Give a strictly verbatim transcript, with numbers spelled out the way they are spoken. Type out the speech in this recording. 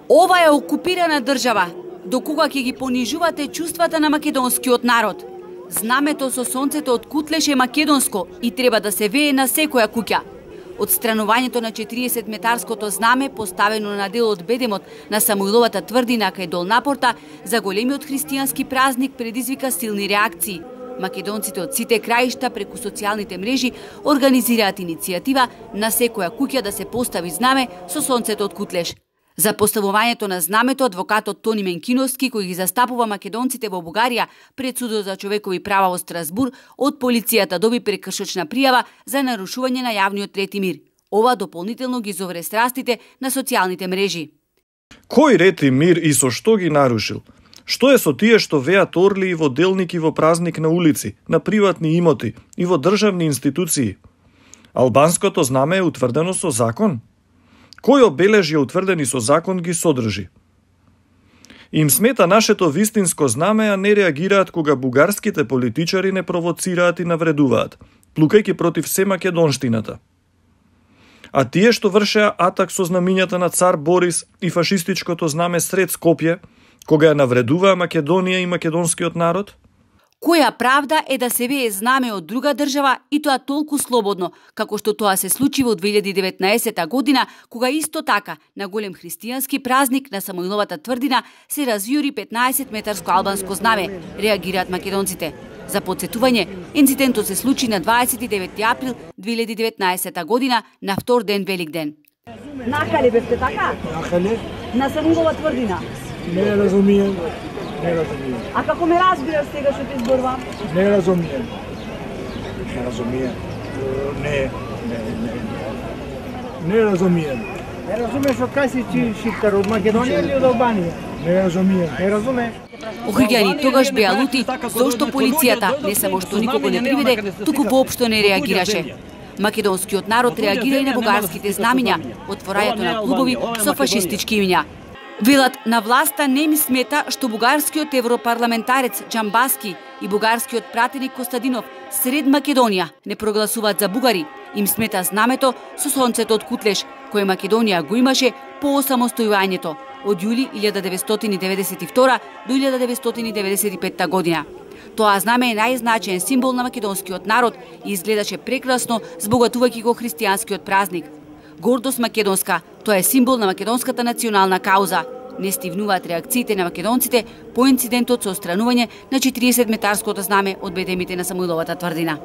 Ова е окупирана држава, до кога ќе ги понижувате чувствата на македонскиот народ. Знамето со сонцето од Кутлеш е македонско и треба да се вее на секоја куќа. Отстранувањето на четиридесетметарското знаме, поставено на дел од бедемот на Самуиловата тврдина кај Долна Порта, за големиот христијански празник предизвика силни реакции. Македонците од сите краишта преку социјалните мрежи организираат иницијатива на секоја куќа да се постави знаме со сонцето од Кутлеш. За поставувањето на знамето, адвокатот Тони Менкиновски, кој ги застапува македонците во Бугарија пред судот за човекови права во Страсбур, од полицијата доби прекршочна пријава за нарушување на јавниот ред и мир. Ова дополнително ги зовре страстите на социјалните мрежи. Кој ред и мир и со што ги нарушил? Што е со тие што веат орли и во делник и во празник на улици, на приватни имоти и во државни институции? Албанското знаме е утврдено со закон? Кои обележја утврдени со закон ги содржи? Им смета нашето вистинско знаме, а не реагираат кога бугарските политичари не провоцираат и навредуваат, плукајќи против се македонштината. А тие што вршеа атак со знамињата на цар Борис и фашистичкото знаме сред Скопје, кога ја навредуваа Македонија и македонскиот народ? Која правда е да се вее знаме од друга држава и тоа толку слободно, како што тоа се случи во две илјади и деветнаесета година, кога исто така на голем христијански празник на Самуиловата тврдина се развиори петнаесетметарско албанско знаме, реагираат македонците. За потсетување, инцидентот се случи на дваесет и девети април две илјади и деветнаесета година, на втор ден Великден. Нахали бевте така? Нахали? На Самуилова тврдина? Не разумием. Не разумием. А како ме разбираш сега што ти зборувам? Не разумием. Не разумием. Не, не, не. Не разумием. Не разумеш од кај си ти шиптар, од Македонија или од Албанија? Не разумием. Не разумеш? Охриѓани тогаш беа лути зошто полицијата не само што никого не приведе, туку воопшто не реагираше. Македонскиот народ реагира и на бугарските знамиња, отворањето на клубови со фашистички имиња. Велат, на власта не ми смета што бугарскиот европарламентарец Џамбаски и бугарскиот пратеник Костадинов сред Македонија не прогласуваат за бугари. Им смета знамето со сонцето од Кутлеш, кое Македонија го имаше по осамостојувањето од јули илјада деветстотини и деветдесет и втора до илјада деветстотини и деветдесет и петта година. Тоа знаме е најзначаен символ на македонскиот народ и изгледаше прекрасно збогатувајќи го христијанскиот празник. Гордост македонска, тоа е символ на македонската национална кауза. Не стивнуваат реакциите на македонците по инцидентот со отстранување на четиридесетметарското знаме од бедемите на Самуиловата тврдина.